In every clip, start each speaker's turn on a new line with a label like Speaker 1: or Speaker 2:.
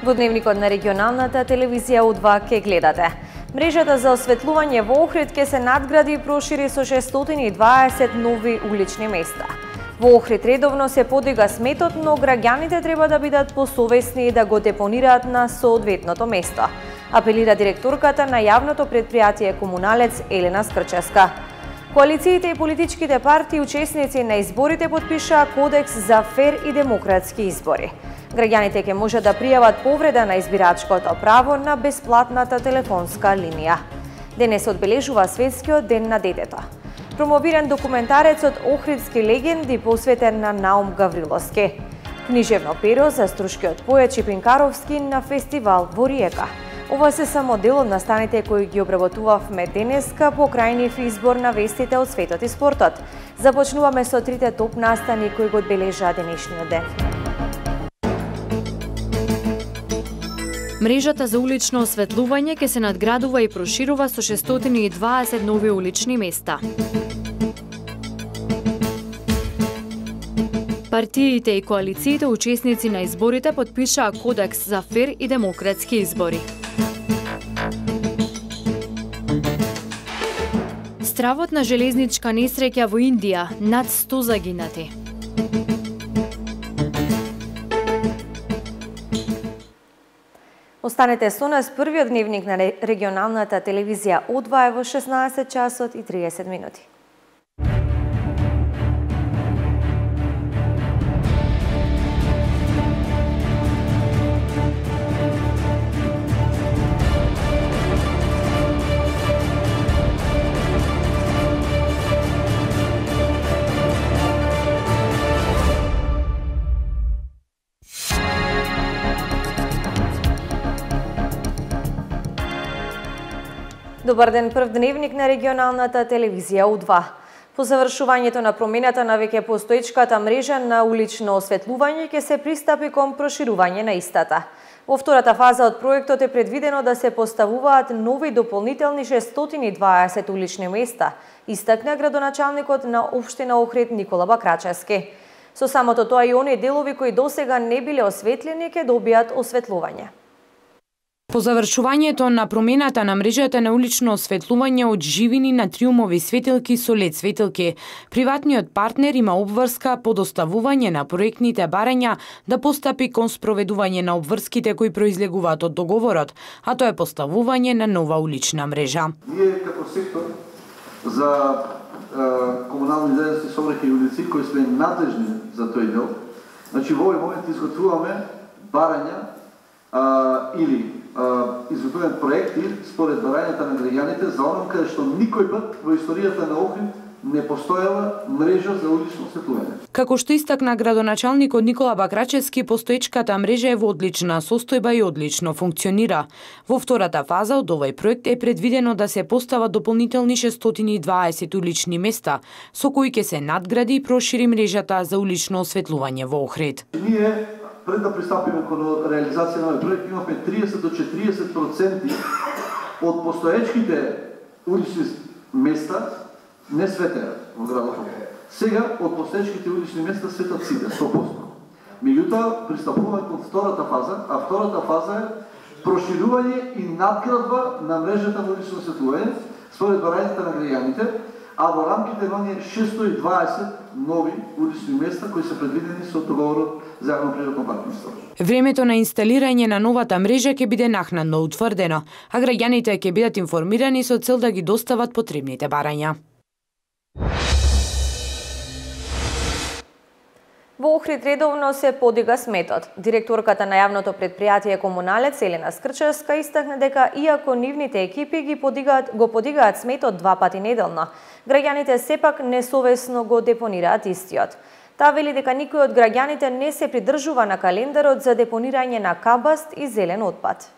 Speaker 1: Во дневникот на регионалната телевизија У2 ке гледате. Мрежата за осветлување во Охрид ке се надгради и прошири со 620 нови улични места. Во Охрид редовно се подига сметот, но граѓаните треба да бидат посовесни и да го депонираат на соодветното место, апелира директорката на јавното претпријатие Комуналец Елена Скрчевска. Коалициите и политичките партии учесници на изборите подпишаа кодекс за фер и демократски избори. Граѓаните ќе може да пријават повреда на избирачкото право на бесплатната телефонска линија. Денес одбележува Светскиот ден на детето. Промовиран документарецот Охридски легенди посветен на Наум Гавриловски. Книжевно перо за струшкиот поет Чипинкаровски на фестивал во Риека. Ова се само дел од настаните кои ги обработувавме денеска покрај избор на вестите од светот и спортот. Започнуваме со трите топ настани кои го одбележаа денешниот ден. Мрежата за улично осветлување ќе се надградува и проширува со 620 нови улични места. Партиите и коалициите учесници на изборите подпишаа кодекс за фер и демократски избори. Стравот на железничка несреќа во Индија, над 100 загинати. Останете со нас, првиот дневник на регионалната телевизија У2 е во 16 часот и 30 минути. Добар ден, прв дневник на регионалната телевизија У2. По завршувањето на промената на веќе постоечката мрежа на улично осветлување ќе се пристапи кон проширување на истата. Во втората фаза од проектот е предвидено да се поставуваат нови дополнителни 620 улични места, истакна градоначалникот на општина Охрид Никола Бакрачевски. Со самото тоа и оние делови кои досега не биле осветлени ќе добијат осветлување.
Speaker 2: По завршувањето на промената на мрежата на улично осветлување од живини на триумови светилки со лед светилки, приватниот партнер има обврска по доставување на проектните барања да постапи кон спроведување на обврските кои произлегуваат од договорот, а тоа е поставување на нова улична мрежа.
Speaker 3: Ние како сектор за комунални дејности, сообраќај и улици кои сме надлежни за тој дел, значи во овој момент изготвуваме барања или изготвуваме проекти според барањата на граѓаните за оном каде што никој пат во историјата на Охрид не постоела мрежа за улично осветлување.
Speaker 2: Како што истакна градоначалникот Никола Бакрачевски, постоечката мрежа е во одлична состојба и одлично функционира. Во втората фаза од овој проект е предвидено да се постават дополнителни 620 улични места, со кои ќе се надгради и прошири мрежата за улично осветлување во Охрид.
Speaker 3: Ние пред да пристапиме кон реализација на овој проект, имавме 30 до 40% од постоечките улични места не светеа во градот Охрид. Сега од постоечките улични места светат сите 100%. Меѓутоа пристапуваме кон втората фаза, а втората фаза е проширување и надградба на мрежата на улично осветлување според барањата на граѓаните, а во рамките на оние 620 нови улични места кои се предвидени со договорот за јавно-приватно партнерство.
Speaker 2: Времето на инсталирање на новата мрежа ќе биде накнадно утврдено, а граѓаните ќе бидат информирани со цел да ги достават потребните барања.
Speaker 1: Во Охрид редовно се подига сметот. Директорката на јавното претпријатие Комуналец Елена Скрчевска истакна дека иако нивните екипи го подигаат сметот 2 пати неделно, граѓаните сепак несовесно го депонираат истиот. Таа вели дека никој од граѓаните не се придржува на календарот за депонирање на кабаст и зелен отпад.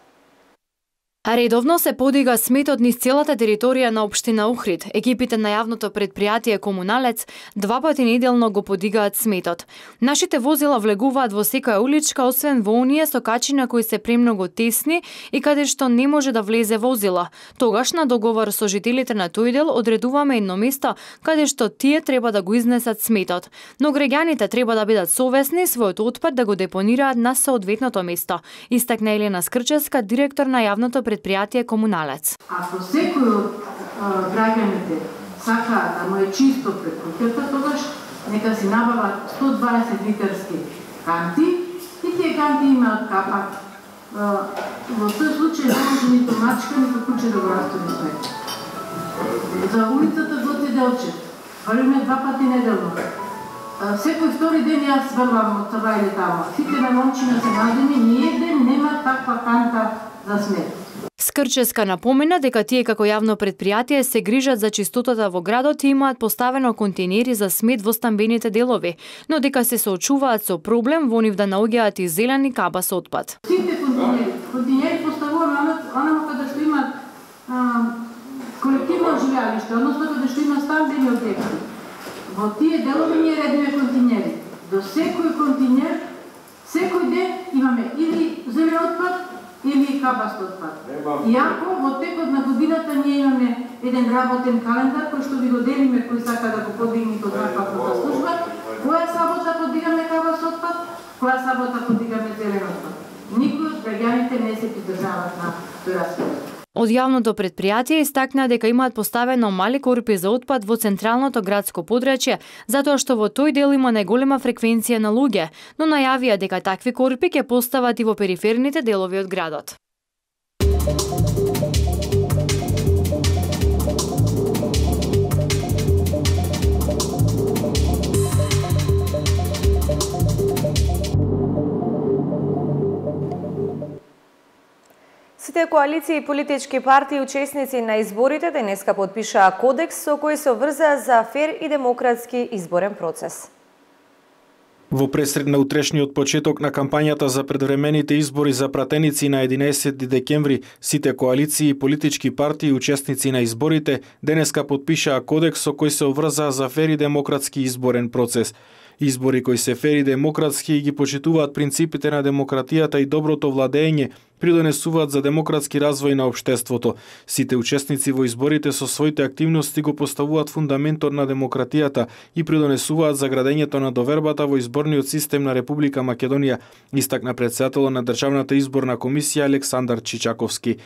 Speaker 4: Редовно се подига сметот низ целата територија на општина Охрид. Екипите на јавното предпријатие Комуналец 2 пати неделно го подигаат сметот. Нашите возила влегуваат во секоја уличка, освен во оние со качина кои се премногу тесни и каде што не може да влезе возила. Тогаш на договор со жителите на тој дел одредуваме едно место каде што тие треба да го изнесат сметот. Но граѓаните треба да бидат совесни својот отпад да го депонираат на соодветното место, истакна Елена Скрчевска, директор на јавното предпријатие Комуналец.
Speaker 5: Ако секој од граѓаните сака да му е чисто пред куќата, тогаш нека си набават 120 литерски канти и тие канти имаат капак. Во тој случај не може нито мачка, нито куче да го растори смет. За улицата Гоце Делчев валиме 2 пати неделно. Секој втори ден јас врвам од това или тамо. Сите на момчина се најдени, ниеден нема таква канта за смет.
Speaker 4: Скрчевска напомена дека тие како јавно предпријатие се грижат за чистотата во градот и имаат поставено контейнери за смет во стамбените делови, но дека се соочуваат со проблем во нив да наоѓаат и зелени каба со отпад.
Speaker 5: Сите контейнери поставуваме онамо каде што имаат колективно живеалиште, односно каде што има стамбени објекти. Во тие делови ние редиме контейнери. До секој контейнер, секој ден имаме или зелен отпад, или кабаст отпад. Иако во текот на годината ние имаме еден работен календар кој што ви го делиме кој сака да го подигне од нафатната служба, која сабота подигаме кабаст отпад, која сабота подигаме зелен отпад. Никој од граѓаните не се придржаваат на тој распоред.
Speaker 4: Од јавното предпријатие истакна дека имаат поставено мали корпи за отпад во централното градско подрачје, затоа што во тој дел има најголема фреквенција на луѓе, но најавија дека такви корпи ќе постават и во периферните делови од градот.
Speaker 1: Сите коалиции и политички партии учесници на изборите денеска подпишаа кодекс со кој се обврзаа за фер и демократски изборен процес.
Speaker 6: Во пресред на утрешниот почеток на кампањата за предвремените избори за пратеници на 11 декември, сите коалиции и политички партии и учесници на изборите денеска подпишаа кодекс со кој се обврзаа за фер и демократски изборен процес. Избори кои се фер и демократски и ги почитуваат принципите на демократијата и доброто владење, придонесуваат за демократски развој на општеството. Сите учесници во изборите со своите активности го поставуваат фундаментот на демократијата и придонесуваат за градењето на довербата во изборниот систем на Република Македонија, истакна претседателот на Државната изборна комисија Александар Чичаковски.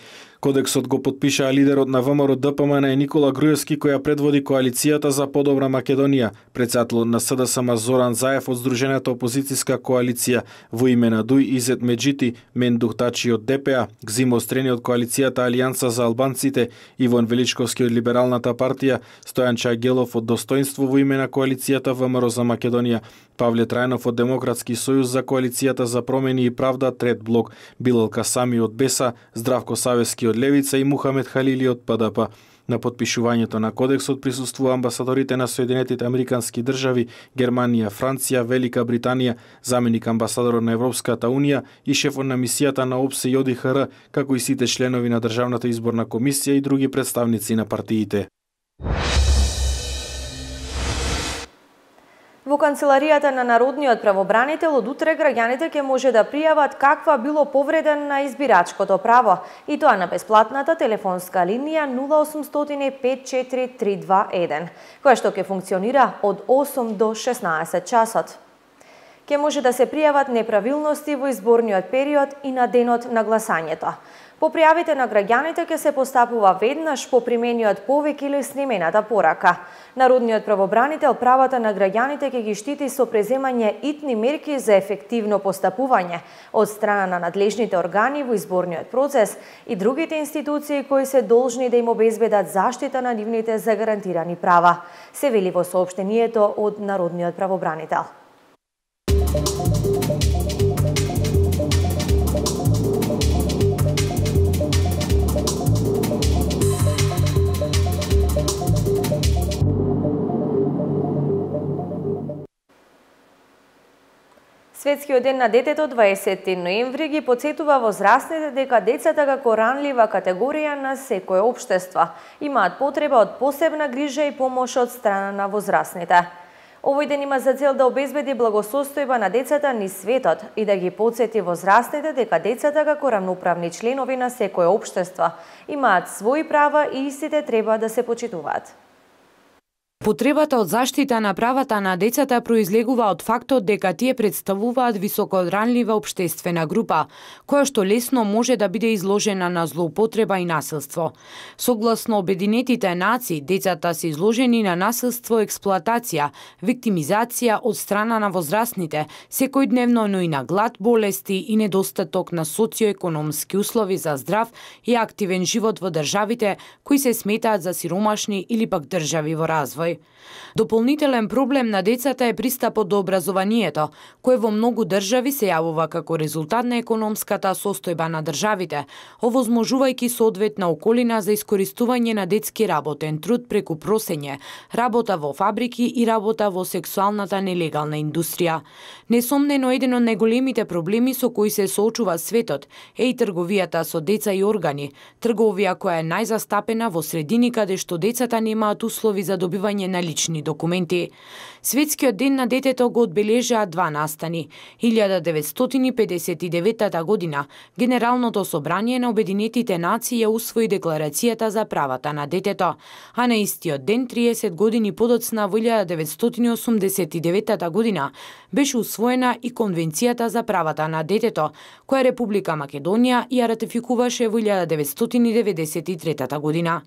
Speaker 6: Кодексот го подпишаа лидерот на ВМРО ДПМН Никола Груевски, која предводи коалицијата за подобра Македонија, претседателот на СДСМ Зоран Заев од Сдружената опозицијска коалиција, во име на Дуј Изет Меджити, Мендух Тачи од ДПА, Гзимо Стрени од коалицијата Алијанса за албанците, Иван Величковски од Либералната партија, Стојан Чајгелов од Достоинство во име на коалицијата ВМРО за Македонија, Павле Трајнов од Демократски сојуз за коалицијата за промени и правда Трет блок, Билал Касами од БЕСА, Здравко Савески од Левица и Мухамед Халили од ПДП. На подпишувањето на кодексот присуствува амбасадорите на Соединетите Американски држави, Германија, Франција, Велика Британија, заменик амбасадорот на Европската Унија и шефот на мисијата на ОПСЕ и ОДИХР, како и сите членови на Државната изборна комисија и други представници на партиите.
Speaker 1: Во канцеларијата на Народниот правобранител од утре граѓаните ќе може да пријават каква било повреден на избирачкото право, и тоа на бесплатната телефонска линија 0800 54321, која што ќе функционира од 8 до 16 часот. Ќе може да се пријават неправилности во изборниот период и на денот на гласањето. По пријавите на граѓаните ќе се постапува веднаш по примениот повик или снимената порака. Народниот правобранител правата на граѓаните ќе ги штити со преземање итни мерки за ефективно постапување од страна на надлежните органи во изборниот процес и другите институции кои се должни да им обезбедат заштита на нивните загарантирани права, се вели во соопштението од Народниот правобранител. Светскиот ден на детето 20 ноември ги потсетува возрастните дека децата како ранлива категорија на секое општество имаат потреба од посебна грижа и помош од страна на возрастните. Овој ден има за цел да обезбеди благосостојба на децата низ светот и да ги потсети возрастните дека децата како рамноправни членови на секое општество имаат своји права и истите треба да се почитуваат.
Speaker 2: Потребата од заштита на правата на децата произлегува од фактот дека тие представуваат високоранлива општествена група, која што лесно може да биде изложена на злоупотреба и насилство. Согласно Обединетите нации, децата се изложени на насилство, експлоатација, виктимизација од страна на возрастните, секојдневно, но и на глад, болести и недостаток на социоекономски услови за здрав и активен живот во државите кои се сметаат за сиромашни или пак држави во развој. Дополнителен проблем на децата е пристапот до образованието, кој во многу држави се јавува како резултат на економската состојба на државите, овозможувајќи соодветна околина за искористување на детски работен труд преку просење, работа во фабрики и работа во сексуалната нелегална индустрија. Несомнено, еден од најголемите проблеми со кои се соочува светот е и трговијата со деца и органи, трговија која е најзастапена во средини каде што децата немаат услови за добивање на лични документи. Светскиот ден на детето го одбележаа два настани. 1959 година Генералното собрание на Обединетите нации ја усвои Декларацијата за правата на детето, а на истиот ден 30 години подоцна во 1989 година беше усвоена и Конвенцијата за правата на детето, која Република Македонија ја ратификуваше во 1993 година.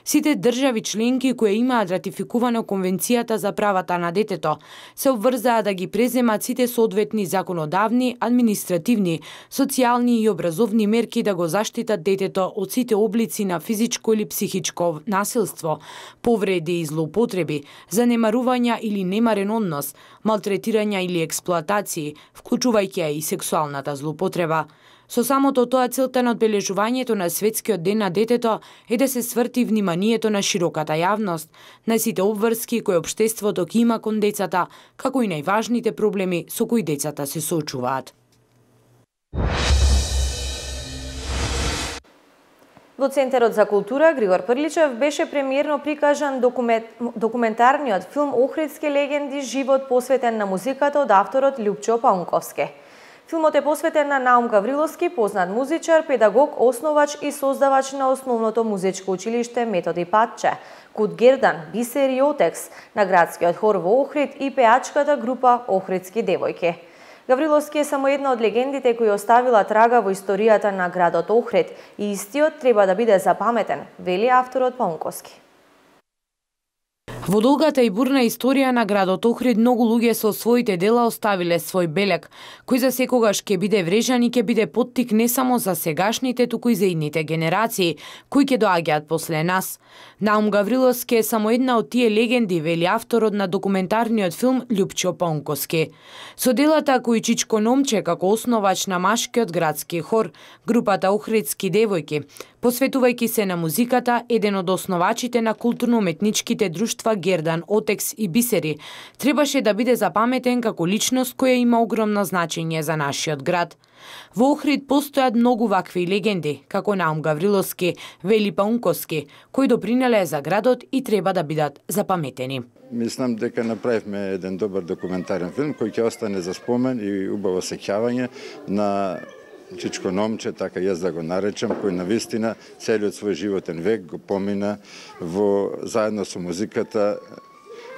Speaker 2: Сите држави членки кои имаат ратификувано Конвенцијата за правата на детето се обврзаа да ги преземат сите соодветни законодавни, административни, социјални и образовни мерки да го заштитат детето од сите облици на физичко или психичко насилство, повреди и злоупотреби, занемарувања или немарен однос, малтретирања или експлоатации, вклучувајќи ја и сексуалната злоупотреба. Со самото тоа целта на одбележувањето на Светскиот ден на детето е да се сврти вниманието на широката јавност, на сите обврски кои општеството ги има кон децата, како и најважните проблеми со кои децата се соочуваат.
Speaker 1: Во Центарот за култура Григор Прличев беше премиерно прикажан документарниот филм Охридски легенди, живот посветен на музиката од авторот Љупчо Паунковски. Филмот е посветен на Наум Гавриловски, познат музичар, педагог, основач и создавач на основното музичко училиште Методи Патче, Куд Гердан, Бисер и Отекс, на градскиот хор во Охрид и пеачката група Охридски девојки. Гавриловски е само една од легендите кои оставила трага во историјата на градот Охрид и истиот треба да биде запаметен, вели авторот Паунковски.
Speaker 2: Во долгата и бурна историја на градот Охрид многу луѓе со своите дела оставиле свој белег, кој за секогаш ќе биде врежан и ќе биде поттик не само за сегашните, туку и за идните генерации, кои ќе доаѓаат после нас. Наум Гавриловски е само една од тие легенди, вели авторот на документарниот филм Љупчо Паунковски. Со делата кои Чичко Номче како основач на машкиот градски хор, групата Охридски девојки, посветувајќи се на музиката, еден од основачите на културно-уметничките друштва Гердан, Отекс и Бисери, требаше да биде запаметен како личност која има огромно значење за нашиот град. Во Охрид постојат многу вакви легенди, како Наум Гавриловски, вели Паунковски, кои допринеле за градот и треба да бидат запаметени.
Speaker 7: Мислам дека направивме еден добар документарен филм кој ќе остане за спомен и убаво сеќавање на Чичко Номче, така јас да го наречам, кој навистина целиот свој животен век го помина заедно со музиката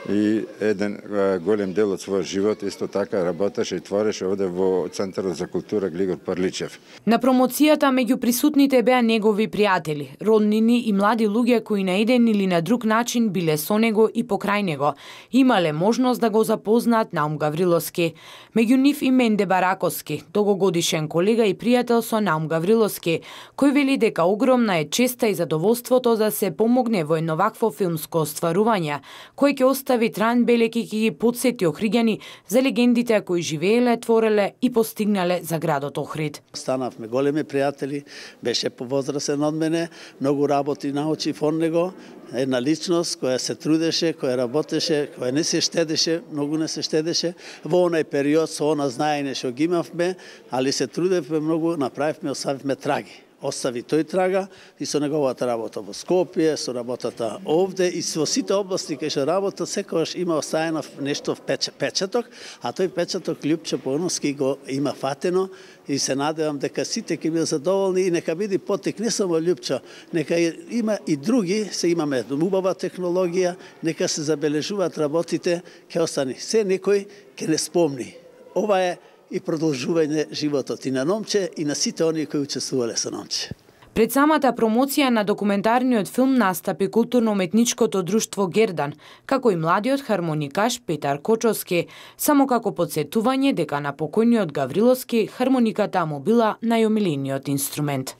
Speaker 7: и еден голем дел од својот живот исто така работеше и твореше овде во Центарот за култура Григор Прличев.
Speaker 2: На промоцијата меѓу присутните беа негови пријатели, роднини и млади луѓе кои на еден или на друг начин биле со него и покрај него, имале можност да го запознаат Наум Гавриловски. Меѓу нив и Менде Бараковски, долгогодишен колега и пријател со Наум Гавриловски, кој вели дека огромна е честа и задоволството да се помогне во едно вакво филмско остварување, кој ќе остане остави траен белег и ги потсети охриѓани за легендите кои живееле, твореле и постигнале за градот Охрид.
Speaker 8: Станавме големи пријатели, беше повозрасен од мене, многу работи научив од него, една личност која се трудеше, која работеше, која не се штедеше, многу не се штедеше. Во онај период со она знаење што ги имавме, али се трудевме многу, направивме, оставивме траги. Остави тој трага и со неговата работа во Скопје, со работата овде и во сите области кај што работа секогаш има оставено нешто в печаток, а тој печаток Љупчо Поновски го има фатено и се надевам дека сите ќе бидат задоволни и нека биде потек не само Љупчо, нека има и други, се имаме убава технологија, нека се забележуваат работите, ќе остане се некој ќе не спомни. Ова е и продолжување животот и на Номче и на сите оние кои учествувале со Номче.
Speaker 2: Пред самата промоција на документарниот филм настапи културно-уметничкото друштво Гердан, како и младиот хармоникаш Петар Кочовски, само како потсетување дека на покојниот Гавриловски хармониката му била најомилениот инструмент.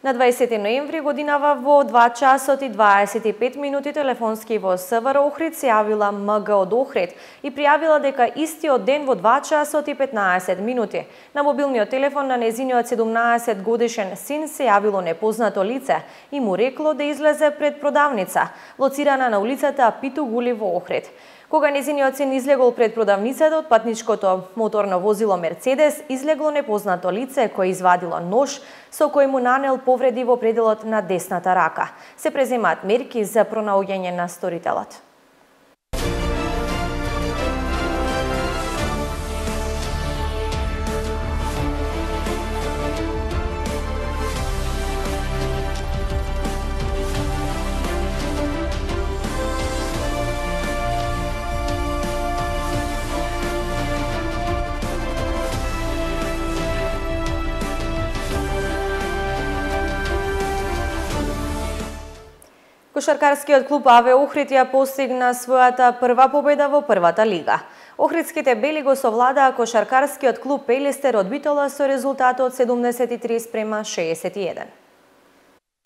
Speaker 1: На 20 ноември годинава во 2 часот и 25 минути телефонски во СВР Охрид се јавила МГ од Охрид и пријавила дека истиот ден во 2 часот и 15 минути на мобилниот телефон на незиниот 17 годишен син се јавило непознато лице и му рекло да излезе пред продавница, лоцирана на улицата Питу Гули во Охрид. Кога незиниот син излегол пред продавницата од патничкото моторно возило Мерцедес, излегло непознато лице кој извадило нож со кој му нанел повреди во пределот на десната рака. Се преземаат мерки за пронаоѓање на сторителот. Кошаркарскиот клуб АВ Охрид ја постигна својата прва победа во првата лига. Охридските бели го совладаа кошаркарскиот клуб Пелистер од Битола со резултатот 73:61.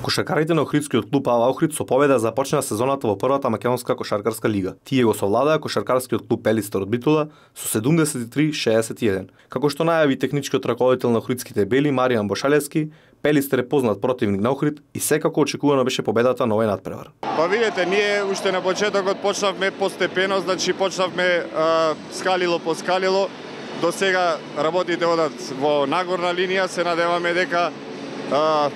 Speaker 9: Кошаркарите на Охридскиот клуб АВ Охрид со победа започнаа сезоната во првата македонска кошаркарска лига. Тие го совладаа кошаркарскиот клуб Пелистер од Битола со 73:61. Како што најави техничкиот раководител на Охридските бели Маријан Бошалевски, Пелистер е познат противник на Охрид и секако очекувано беше победата на овој надпревар.
Speaker 10: Па видете, ние уште на почетокот почнавме постепено, значи почнавме скалило по скалило. До сега работите одат во нагорна линија, се надеваме дека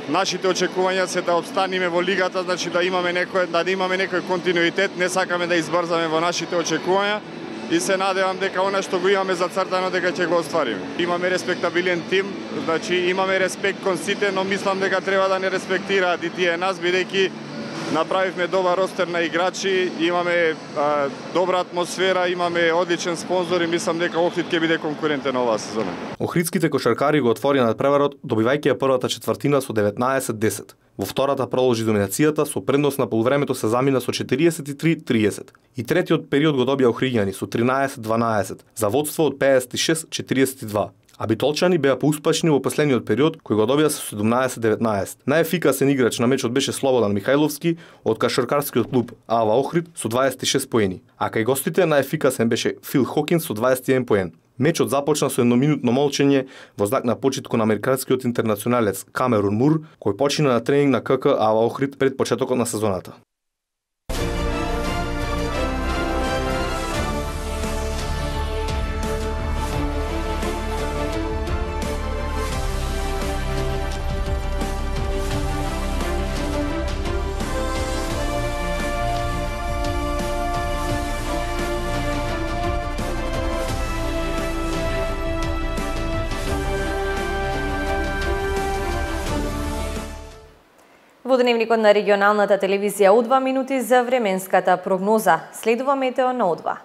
Speaker 10: нашите очекувања се да обстанеме во лигата, значи да имаме некој континуитет, не сакаме да избрзаме во нашите очекувања и се надевам дека она што го имаме зацртано дека ќе го оствариме. Имаме респектабилен тим, значи имаме респект кон сите, но мислам дека треба да не респектираат и тие нас, бидејќи направивме добар ростер на играчи, имаме добра атмосфера, имаме одличен спонзор и мислам дека Охрид ќе биде конкурентен оваа сезона.
Speaker 9: Охридските кошаркари го отворија надпреварот, добивајќи ја првата четвртина со 19-10. Во втората продолжи доминацијата, со предност на полувремето се замина со 43-30. И третиот период го добија охриѓани со 13-12, за водство од 56-42. А битолчани беа поуспешни во последниот период, кој го добија со 17-19. Најефикасен играч на мечот беше Слободан Михајловски од кошаркарскиот клуб АВ Охрид со 26 поени, а кај гостите најефикасен беше Фил Хокинс со 21 поен. Мечот започна со едноминутно молчење во знак на почит кон американскиот интернационалец Камерун Мур, кој почина на тренинг на КК АВ Охрид пред почетокот на сезоната.
Speaker 1: Во дневникот на регионалната телевизија У2 минути за временската прогноза. Следува метео на У2.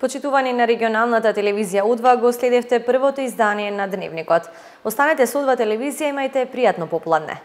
Speaker 1: Почитувани на регионалната телевизија У2 го следевте првото издание на Дневникот. Останете со У2 телевизија, имајте пријатно попладне.